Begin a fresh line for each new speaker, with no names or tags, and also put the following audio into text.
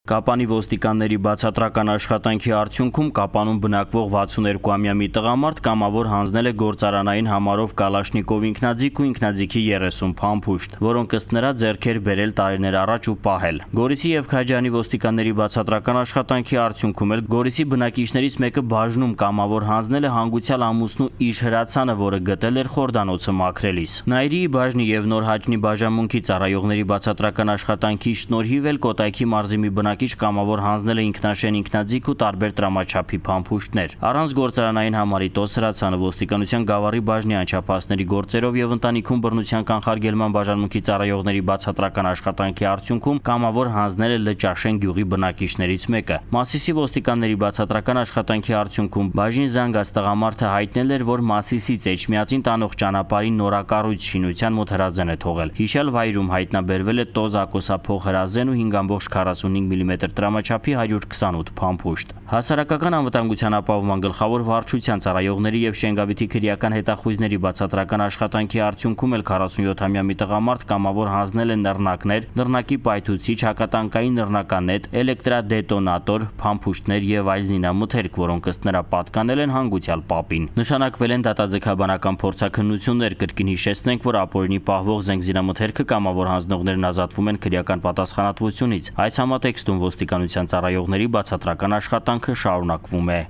Կապանի ոստիկանների բացատրական աշխատանքի արդյունքում Կապանում բնակվող 62-ամյա մի տղամարդ կամավոր հանձնել է գործարանային համարով Կալաշնիկով ինքնաձիգ ու ինքնաձիգի 30 փամփուշտ, որոնք ըստ նրա ձեռքեր բերել տարիներ առաջ ու պահել։ Գորիսի եւ Քաջարյանի ոստիկանների բացատրական աշխատանքի արդյունքում էլ Գորիսի բնակիչներից մեկը բաժնում կամավոր հանձնել է հանգուցյալ ամուսնու իր հրացանը, որը գտել էր խորդանոցը մաքրելիս։ Նայիրիի բաժնի եւ Նոր Հաճնի բաժանմունքի ծառայողների բացատրական աշխատանքի շնորհիվ էլ Կոտայքի մարզի մի բնակիչ կամավոր հանձնել է ինքնաշեն ինքնաձիգ ու տարբեր տրամաչափի փամփուշտներ։ Առանց գործարանային համարի տոս հրացանը ոստիկանության Գավառի բաժնի անչափահասների գործերով եւ ընտանիքում բռնության կանխարգելման բաժանմունքի ծառայողների բացատրական աշխատանքի արդյունքում կամավոր հանձնել է Լճաշեն գյուղի բնակիչներից մեկը։ Մասիսի ոստիկանների բացատրական աշխատանքի արդյունքում բաժին զանգած տղամարդը հայտնել էր, որ Մասիսից Էջմիածին տանող ճանապարհի նորակառույց շինության մոտ հրազեն է թողել։ Հիշյալ վայրում հայտնաբերվել է տոզ ակոսափող հրազեն ու 5.45 մմ տրամաչափի 128 փամփուշտ։ Հասարակական անվտանգության ապահովման գլխավոր վարչության ծառայողների եւ Շենգավիթի քրեական հետախույզների բացատրական աշխատանքի արդյունքում էլ 47-ամյա մի տղամարդ կամավոր հանձնել է նռնակներ, նռնակի պայթուցիչ, հակատանկային նռնականետ, էլեկտրադետոնատոր, փամփուշտներ եւ այլ զինամթերք, որոնք ըստ նրա պատկանել են հանգուցյալ պապին։ Նշանակվել են դատաձգաբանական փորձաքննություններ, կրկին հիշեցնենք, որ ապօրինի պահվող զենք զինամթերքը կամավոր հանձնողներն ազատվում են քրեական պատասխանատվությունից։ Այս համատեքստում ոստիկանության ծառայողների բացատրական աշխատանքը շարունակվում է։